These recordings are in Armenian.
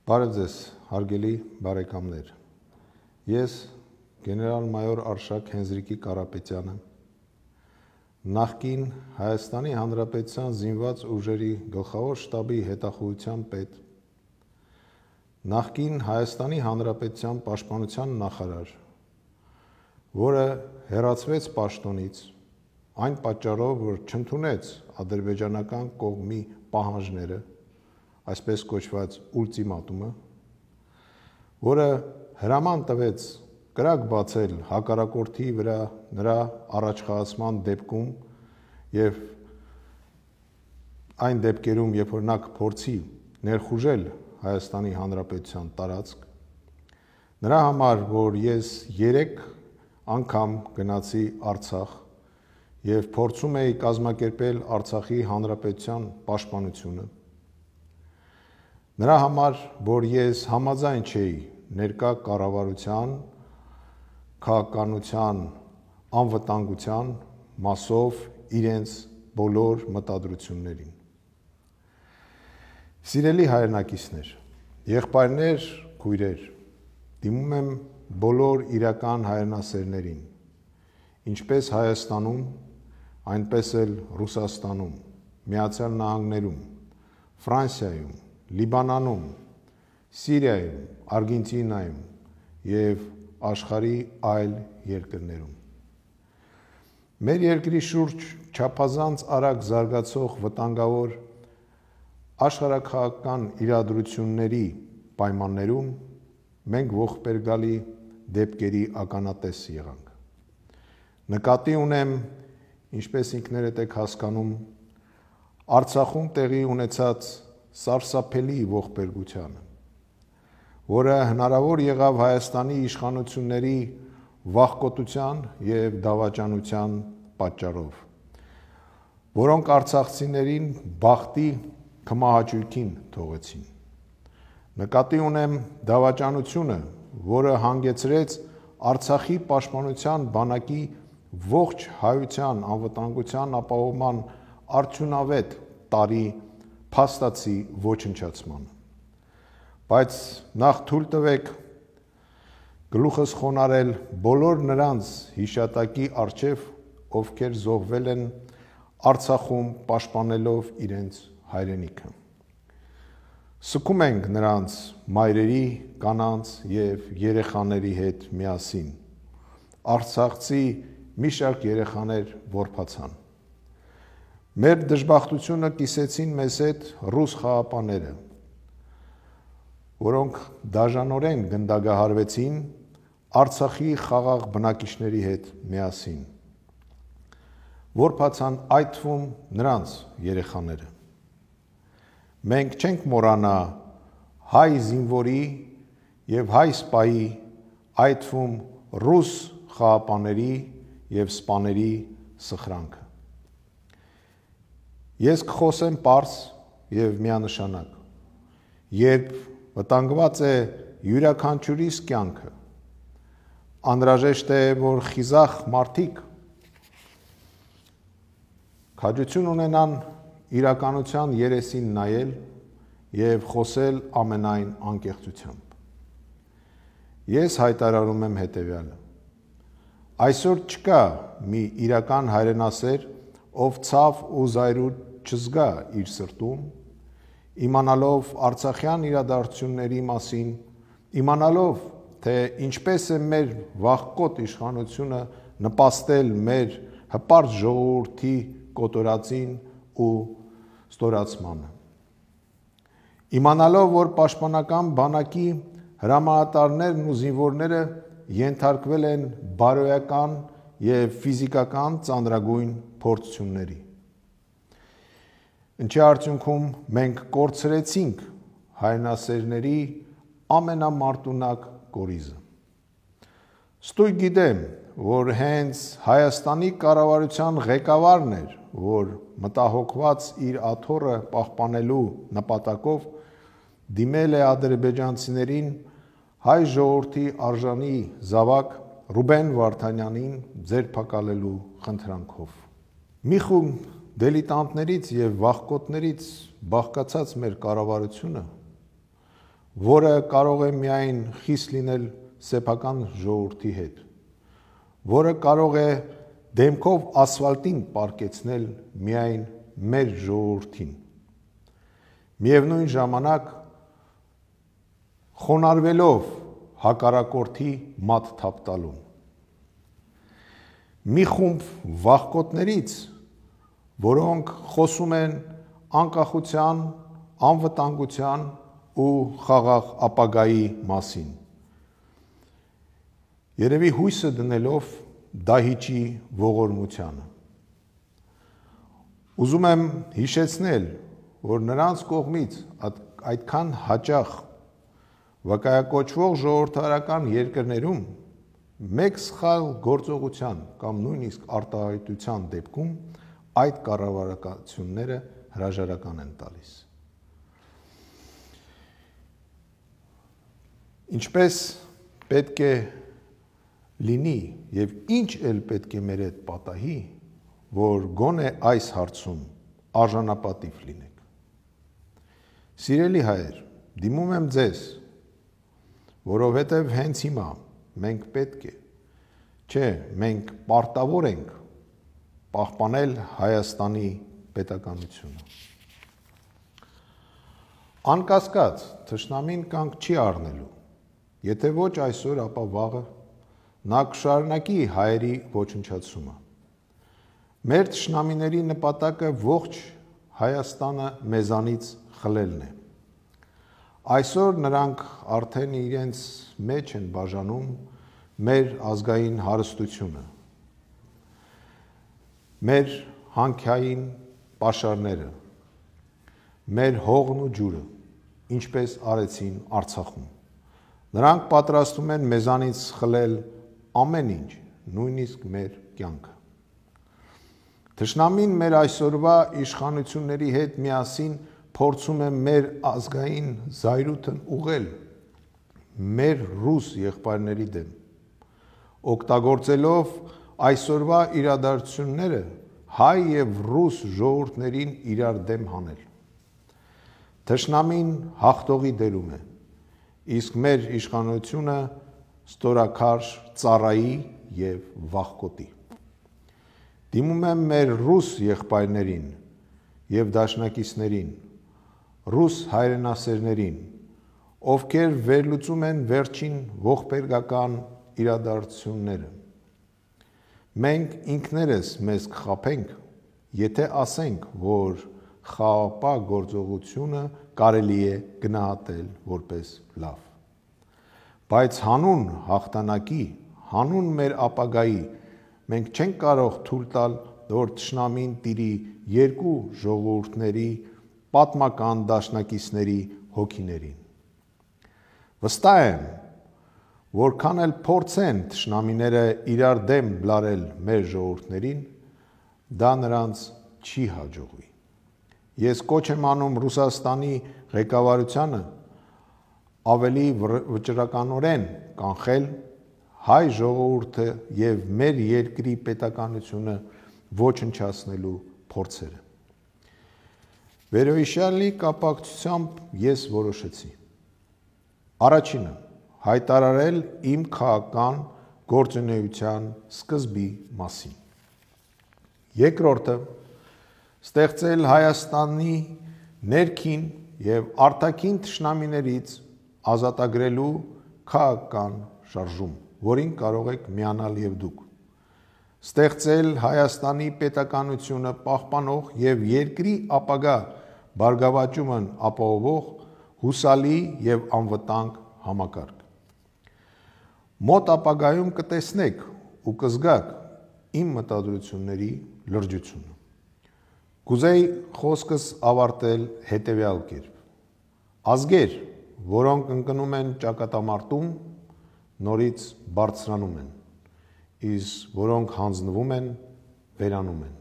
Բարև ձեզ, հարգելի բարեկամներ։ Ես գեներալ-մայոր Արշակ Հենզրիկի Կարապետյանը, նախկին Հայաստանի Հանրապետության զինված ուժերի գլխավոր շտաբի հետախուզության պետ, նախկին Հայաստանի Հանրապետության պաշտպանության նախարար, որը հեռացվեց պաշտոնից այն պատճառով, որ չընդունեց ադրբեջանական կողմի պահանջները, այսպես կոչված ուլտիմատումը, որը հրաման տվեց կրակ բացել հակառակորդի վրա նրա առաջխաղացման դեպքում եւ այն դեպքերում, երբ որ նա կփորձի ներխուժել Հայաստանի Հանրապետության տարածք, նրա համար, որ ես 3 անգամ գնացի Արցախ եւ փորձում էի կազմակերպել Արցախի Հանրապետության պաշտպանությունը, նրա համար, որ ես համաձայն չէի ներկա կառավարության, քաղաքականության անվտանգության մասով իրենց բոլոր մտադրություններին։ Սիրելի հայրենակիցներ, եղբայրներ, քույրեր, դիմում եմ բոլոր իրական հայրենասերներին, ինչպես Հայաստանում, այնպես էլ Ռուսաստանում, Միացյալ Նահանգներում, Ֆրանսիայում, Լիբանանում, Սիրիայում, Արգենտինայում եւ աշխարհի այլ երկրներում։ Մեր երկրի շուրջ չափազանց արագ զարգացող վտանգավոր աշխարհաքաղաքական իրադրությունների պայմաններում մենք ողբերգալի դեպքերի ականատես եղանք։ Նկատի ունեմ, ինչպես ինքներդ եք հասկանում, Արցախում տեղի ունեցած սարսափելի ողբերգությանը, որը հնարավոր եղավ Հայաստանի իշխանությունների վախկոտության եւ դավաճանության պատճառով, որոնք արցախցիներին բախտի կմահաճույքին թողեցին։ Նկատի ունեմ դավաճանությունը, որը հանգեցրեց Արցախի պաշտպանության բանակի ողջ հայության անվտանգության ապահովման արդյունավետ տարի փաստացի ոչնչացման, բայց նախ թույլ տվեք գլուխս խոնարհել բոլոր նրանց հիշատակի առջև, ովքեր զոհվել են Արցախում պաշտպանելով իրենց հայրենիքը։ Սգում ենք նրանց մայրերի, կանանց եւ երեխաների հետ միասին։ Արցախցի մի շարք երեխաներ որբացան։ Մեր դժբախտությունը կիսեցին մեզ հետ ռուս խաղապաները, որոնք դաժանորեն գնդագահարվեցին Արցախի խաղաղ բնակիչների հետ միասին։ Որբացան այդ թվում նրանց երեխաները։ Մենք չենք մոռանա հայ զինվորի եւ հայ սպայի, այդ թվում ռուս խաղապաների եւ սպաների սխրանքը։ Ես կխոսեմ պարզ եւ միանշանակ, երբ վտանգված է յուրաքանչյուրիս կյանքը, անհրաժեշտ է, որ խիզախ մարդիկ քաջություն ունենան իրականության երեսին նայել եւ խոսել ամենայն անկեղծությամբ։ Ես հայտարարում եմ հետեւյալը. այսօր չկա մի իրական հայրենասեր, ով ցավ ու զայրույթ չզգա իր սրտում, իմանալով արցախյան իրադարձությունների մասին, իմանալով, թե ինչպես է մեր վախկոտ իշխանությունը նպաստել մեր հպարտ ժողովրդի կոտորածին ու ստորացմանը։ Իմանալով, որ պաշտպանական բանակի հրամանատարներն ու զինվորները ենթարկվել են բարոյական եւ ֆիզիկական ծանրագույն փորձությունների։ Ինչի արդյունքում մենք կորցրեցինք հայրենասերների ամենամարտունակ կորիզը։ Ստույգ գիտեմ, որ հենց Հայաստանի կառավարության ղեկավարն էր, որ մտահոգված իր աթոռը պահպանելու նպատակով դիմել է ադրբեջանցիներին հայ ժողովրդի արժանի զավակ Ռուբեն Վարդանյանին ձերբակալելու խնդրանքով։ Մի խումբ դիլետանտներից եւ վախկոտներից բաղկացած մեր կառավարությունը, որը կարող է միայն խիստ լինել սեփական ժողովրդի հետ, որը կարող է դեմքով ասֆալտին պառկեցնել միայն մեր ժողովրդին։ Միևնույն ժամանակ խոնարհվելով հակառակորդի մատ թափտալուն։ Մի խումբ վախկոտներից, որոնք խոսում են անկախության, անվտանգության ու խաղաղ ապագայի մասին, երևի հույսը դնելով դահիճի ողորմությանը։ Ուզում եմ հիշեցնել, որ նրանց կողմից այդքան հաճախ վկայակոչվող ժողովրդարական երկրներում մեկ սխալ գործողության կամ նույնիսկ արտահայտության դեպքում այդ կառավարությունները հրաժարական են տալիս։ Ինչպես պետք է լինի եւ ինչ էլ պետք է մեր հետ պատահի, որ գոնե այս հարցում արժանապատիվ լինենք։ Սիրելի հայեր, դիմում եմ ձեզ, որովհետև հենց հիմա մենք պետք է, չէ, մենք պարտավոր ենք պահպանել Հայաստանի պետականությունը։ Անկասկած, թշնամին կանգ չի առնելու, եթե ոչ այսօր, ապա վաղը նա կշարունակի հայերի ոչնչացումը։ Մեր թշնամիների նպատակը ողջ Հայաստանը մեզանից խլելն է։ Այսօր նրանք արդեն իրենց մեջ են բաժանում մեր ազգային հարստությունը, մեր հանքային պաշարները, մեր հողն ու ջուրը, ինչպես արեցին Արցախում։ Նրանք պատրաստվում են մեզանից խլել ամեն ինչ, նույնիսկ մեր կյանքը։ Թշնամին մեր այսօրվա իշխանությունների հետ միասին փորձում է մեր ազգային զայրույթն ուղղել մեր ռուս եղբայրների դեմ, օգտագործելով այսօրվա իրադարձությունները հայ եւ ռուս ժողովուրդներին իրար դեմ հանել։ Թշնամին հաղթողի դերում է, իսկ մեր իշխանությունը ստորաքարշ ծառայի եւ վախկոտի։ Դիմում եմ մեր ռուս եղբայրներին եւ դաշնակիցներին, ռուս հայրենասերներին, ովքեր վերլուծում են վերջին ողբերգական իրադարձությունները։ Մենք ինքներս մեզ կխաբենք, եթե ասենք, որ խաղաղապահ գործողությունը կարելի է գնահատել որպես լավ։ Բայց հանուն հաղթանակի, հանուն մեր ապագայի, մենք չենք կարող թույլ տալ, որ թշնամին տիրի երկու ժողովուրդների պատմական դաշնակիցների հոգիներին։ Վստահ եմ, որքան էլ փորձեն թշնամիները իրար դեմ բլարել մեր ժողովուրդներին, դա նրանց չի հաջողվի։ Ես կոչ եմ անում Ռուսաստանի ղեկավարությանը ավելի վճռականորեն կանխել հայ ժողովուրդը եւ մեր երկրի պետականությունը ոչնչացնելու փորձերը։ Վերոհիշյալի կապակցությամբ ես որոշեցի. Առաջինը, հայտարարել իմ քաղաքական գործունեության սկզբի մասին։ Երկրորդը, ստեղծել Հայաստանի ներքին եւ արտաքին թշնամիներից ազատագրելու քաղաքական շարժում, որին կարող եք միանալ եւ դուք։ Ստեղծել Հայաստանի պետականությունը պահպանող եւ երկրի ապագա բարգավաճումն ապահովող հուսալի եւ անվտանգ համակարգ։ Մոտ ապագայում կտեսնեք ու կզգաք իմ մտադրությունների լրջությունը։ Կուզեի խոսքս ավարտել հետևյալ կերպ. ազգեր, որոնք ընկնում են ճակատամարտում, նորից բարձրանում են, իսկ որոնք հանձնվում են, վերանում են։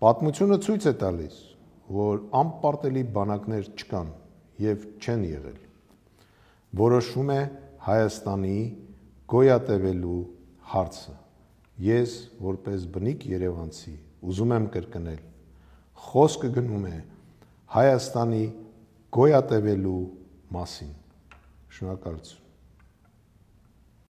Պատմությունը ցույց է տալիս, որ անպարտելի բանակներ չկան եւ չեն եղել։ Որոշվում է Հայաստանի գոյատևելու հարցը։ Ես, որպես բնիկ երևանցի, ուզում եմ կրկնել, խոսքը գնում է Հայաստանի գոյատևելու մասին։ Շնորհակալություն։